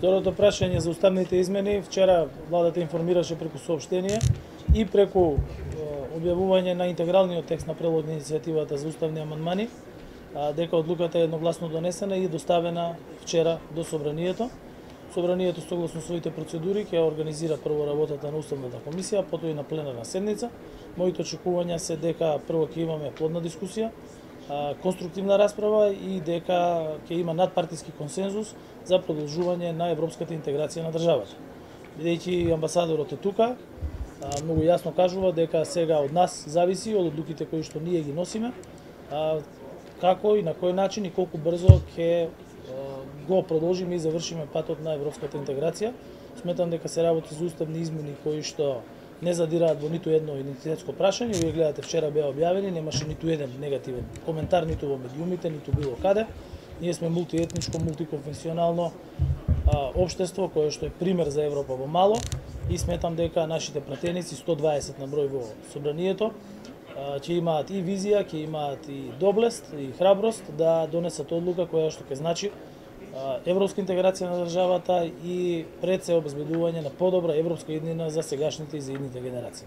Второто прашање за уставните измени, вчера владата информираше преку соопштение и преку објавување на интегралниот текст на прелог на иницијативата за уставни амандмани, дека одлуката е едногласно донесена и доставена вчера до Собранието. Собранието согласно своите процедури ќе организира прво работата на Уставната комисија, потоа и на пленарна седница. Моите очекувања се дека прво ќе имаме плодна дискусија, конструктивна расправа и дека ќе има надпартиски консензус за продолжување на европската интеграција на државата. Бидејќи амбасадорот е тука, многу јасно кажува дека сега од нас зависи, од одлуките кои што ние ги носиме, како и на кој начин и колку брзо ќе го продолжиме и завршиме патот на европската интеграција. Сметам дека се работи за уставни измени кои што не задираат во ниту едно идентитетско прашање. Вие гледате, вчера беа објавени, немаше ниту еден негативен коментар ниту во медиумите, ниту било каде. Ние сме мултиетничко, мултиконфесионално општество кое што е пример за Европа во мало и сметам дека нашите пратеници, 120 на број во Собранието, ќе имаат и визија, ќе имаат и доблест и храброст да донесат одлука која што ќе значи европска интеграција на државата и пред се обезбедување на подобра европска иднина за сегашните и за идните генерации.